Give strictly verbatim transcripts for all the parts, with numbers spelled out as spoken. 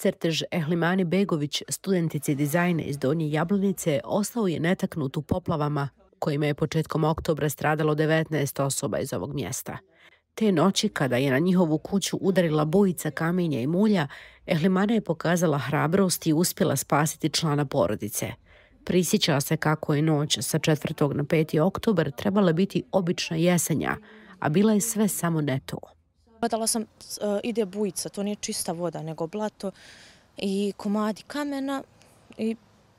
Crtež Ehlimani Begović, studentice dizajna iz Donje Jablanice, ostao je netaknut u poplavama kojima je početkom oktobra stradalo devetnaest osoba iz ovog mjesta. Te noći, kada je na njihovu kuću udarila bujica kamenja i mulja, Ehlimana je pokazala hrabrost i uspjela spasiti člana porodice. Prisjeća se kako je noć sa četvrtog na peti oktobar trebala biti obična jesenja, a bila je sve samo ne to. Gledala sam, ide bujica, to nije čista voda, nego blato i komadi kamena i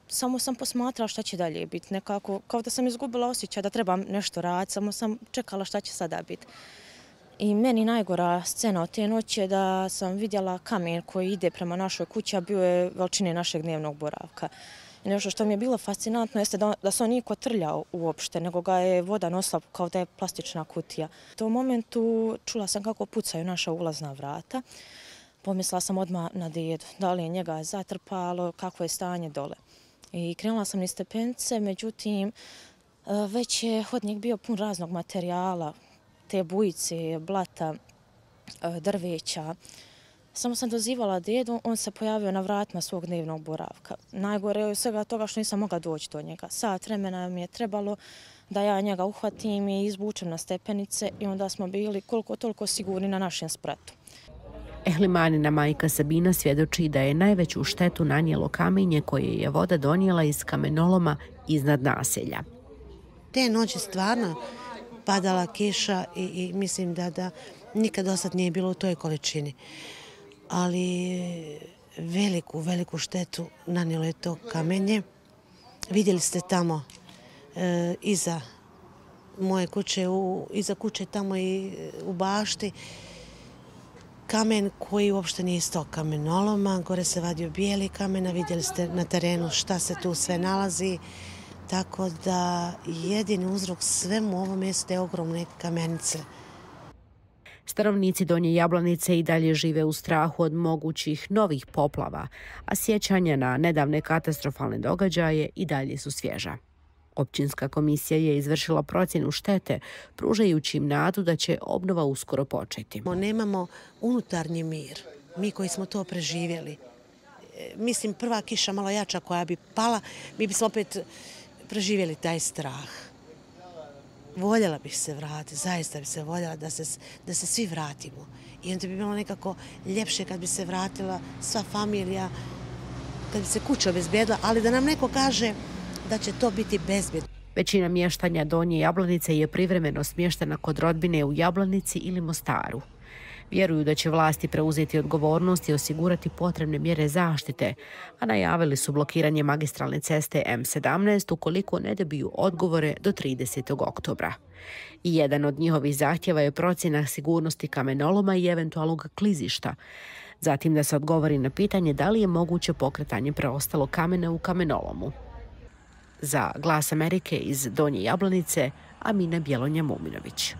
samo sam posmatrala šta će dalje biti. Nekako, kao da sam izgubila osjećaj da trebam nešto raditi, samo sam čekala šta će sada biti. I meni najgora scena od te noći je da sam vidjela kamen koji ide prema našoj kući, a bio je veličine našeg dnevnog boravka. I nešto što mi je bilo fascinantno jeste da, da se on nije kotrljao uopšte, nego ga je voda nosila kao da je plastična kutija. U tom momentu čula sam kako pucaju naša ulazna vrata. Pomislila sam odmah na dedu, da li je njega zatrpalo, kakvo je stanje dole. I krenula sam niz stepenice, međutim, već je hodnik bio pun raznog materijala, te bujice, blata, drveća. Samo sam dozivala dedu, on se pojavio na vratima svog dnevnog boravka. Najgore je svega toga što nisam mogla doći do njega. Sat vremena mi je trebalo da ja njega uhvatim i izvučem na stepenice i onda smo bili koliko toliko sigurni na našem spratu. Ehlimanina majka Sabina svjedoči da je najveću štetu nanijelo kamenje koje je voda donijela iz kamenoloma iznad naselja. Te noći stvarno padala kiša i, i mislim da, da nikad do sad nije bilo u toj količini. Ali veliku, veliku štetu nanijelo je to kamenje. Vidjeli ste tamo e, iza moje kuće, u, iza kuće tamo i u bašti, kamen koji uopšte nije iz tog kamenoloma. Gore se vadio bijeli kamen, a vidjeli ste na terenu šta se tu sve nalazi. Tako da jedini uzrok svemu ovom jeste ogromne kamenice. Stanovnici Donje Jablanice i dalje žive u strahu od mogućih novih poplava, a sjećanja na nedavne katastrofalne događaje i dalje su svježa. Općinska komisija je izvršila procjenu štete, pružajući im nadu da će obnova uskoro početi. Nemamo unutarnji mir, mi koji smo to preživjeli. Mislim, prva kiša malo jača koja bi pala, mi bi se opet preživjeli taj strah. Voljela bih se vratiti, zaista bih se voljela da se, da se svi vratimo. I onda bi bilo nekako ljepše kad bi se vratila sva familija, kad bi se kuća obezbijedila, ali da nam neko kaže da će to biti bezbjedno. Većina mještanja Donje Jablanice je privremeno smještena kod rodbine u Jablanici ili Mostaru. Vjeruju da će vlasti preuzeti odgovornost i osigurati potrebne mjere zaštite, a najavili su blokiranje magistralne ceste M sedamnaest ukoliko ne dobiju odgovore do tridesetog oktobra. I jedan od njihovih zahtjeva je procjena sigurnosti kamenoloma i eventualnog klizišta. Zatim da se odgovori na pitanje da li je moguće pokretanje preostalog kamena u kamenolomu. Za Glas Amerike iz Donje Jablanice, Amina Bjelonja Muminović.